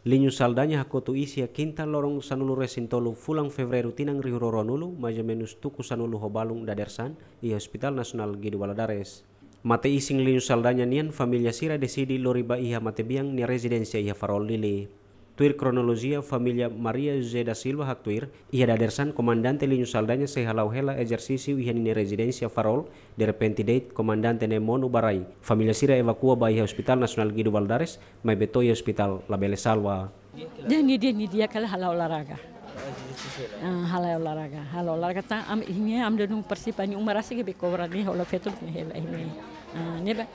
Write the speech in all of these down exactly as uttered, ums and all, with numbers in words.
Liño Saldanha hakotu iis iha kinta loron sanulu resin tolu fulan Fevereiru tinan rihun rua ruanulu, mais ou menus tuku sanulu ho balun dadeer-saan, iha Hospital Nasionál Guido Valadares. Mate-isin Liño Saldanha nian, família sira deside lori ba iha matebian nia rezidénsia iha Farol, Dili. Tuir kronolojia, família Maria José da Silva haktuir, iha dadeer-saan Komandante Liño Saldanha sei hala'o hela ezersísiu iha ninia rezidénsia Farol, derrepente de'it komandante ne'e monu ba rai. Família sira evakua ba iha Hospital Nasionál Guido Valadares, maibé to'o iha ospitál labele salva. Dehan nia, dehan nia di'ak hela hala'o olahraga. Ah, hala'o olahraga, hala'o olahraga tan, ami, nia, ami dodun partisipa, nia uma rasik be kobra nia, hola feto nia hela nia. Ah, ne'ebé,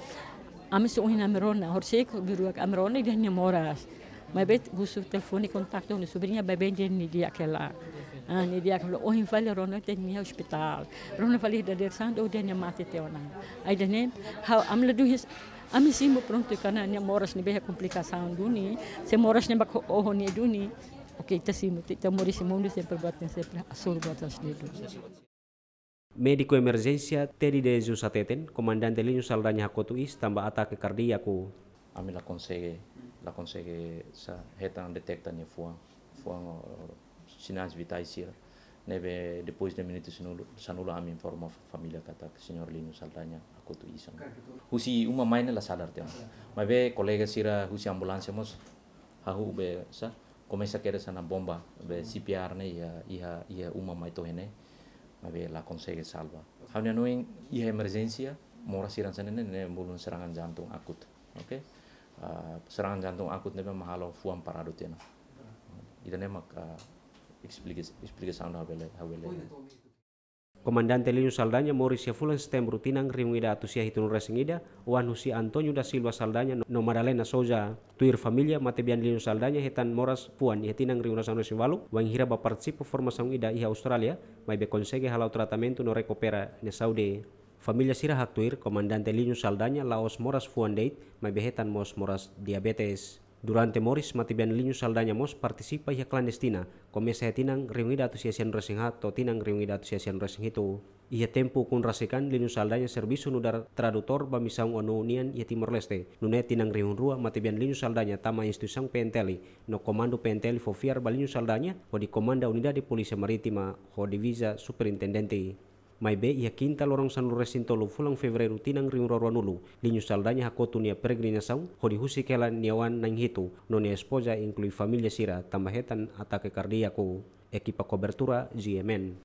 ami só ohin ami rona, horisehik, biru ami rona, dehan nia moras. Maibé husu telefone kontaktu ho nia sobriña, maibé dehan nia di'ak hela. Ah, nia di'ak hela, ohin fali rona dehan nia iha ospitál. Rona fali dadeer-saan, dehan nia mate tiha ona. Ai dehan ne'e, ha'u, ami ladún his-, ami simu prontu karena nia moras ne'ebé iha komplikasaun duni, se moras ne'e bá oho nia duni. Oke, ita simu, ita, ita moris iha mundu sempre buat ne'e sempre hasoru buat hanesan ne'e duni. Médiku emerjénsia Teddy de Jesus hateten, Komandante Liño Saldanha hakotu iis tanba atake kardíaku. Ami la konsege, la konsege sa hetan deteta nia fuan, fuan, eh, sinais vitais sira. Ne'ebé depois de minutu sanulu, sanulu ami informa fa-, família katak señór Liño Saldanha hakotu iis ona. Husi uma mai ne'e la sadar tiha ona. Maibé kolega sira husi ambulánsia mós hahú be sa, komesa kedas hanesan bomba, be C P R ne'e iha, iha, iha uma mai to'o iha ne'e, maibé la konsege salva. Ha'u-nia hanoin iha emerjénsia, moras sira hanesan ne'e, ne'e bolu serangan jantung akut. Oke? Ah, serangan jantung akut ne'ebé mak halo fuan paradu tiha ona. Ida-ne'e mak, ah, esplika-, esplikasaun ha'u bele, ha'u bele. Komandante Liño Saldanha moris iha fulan Setembru tinan rihun ida atus sia hitunulu resin ida, oan husi António da Silva Saldanha no, no Madalena Souza. Tuir família, matebian Liño Saldanha hetan moras fuan iha tinan rihun rua sanulu resin ualu, wainhira bá partisipa formasaun ida iha Austrália, maibé konsege hala'o tratamentu no rekupera nia saúde. Família sira haktuir, Komandante Liño Saldanha la'ós moras fuan de'it, maibé hetan mós moras diabetes. Durante moris, matebian Liño Saldanha mós partisipa iha klandestina, komesa iha tinan rihun ida atus sia sianulu resin haat to'o tinan rihun ida atus sia sianulu resin hitu. Iha tempu ukun rasik an, Liño Saldanha servisu nu'udar tradutór ba misaun ONU nian iha Timor-Leste. Nune'e tinan rihun rua, matebian Liño Saldanha tama instituisaun P N T L, no Komandu P N T L fó fiar ba Liño Saldanha hodi komanda Unidade Polísia Marítima ho Diviza Superintendente. Maibé iha kinta loron sanulu resin tolu fulan Fevereiru tinan rihun rua ruanulu, Liño Saldanha hakotu nia peregrinasaun hodi husik hela nia oan na'in hitu, no nia espoza, inklui família sira, tanba hetan atake kardíaku. Ekipa kobertura G M N.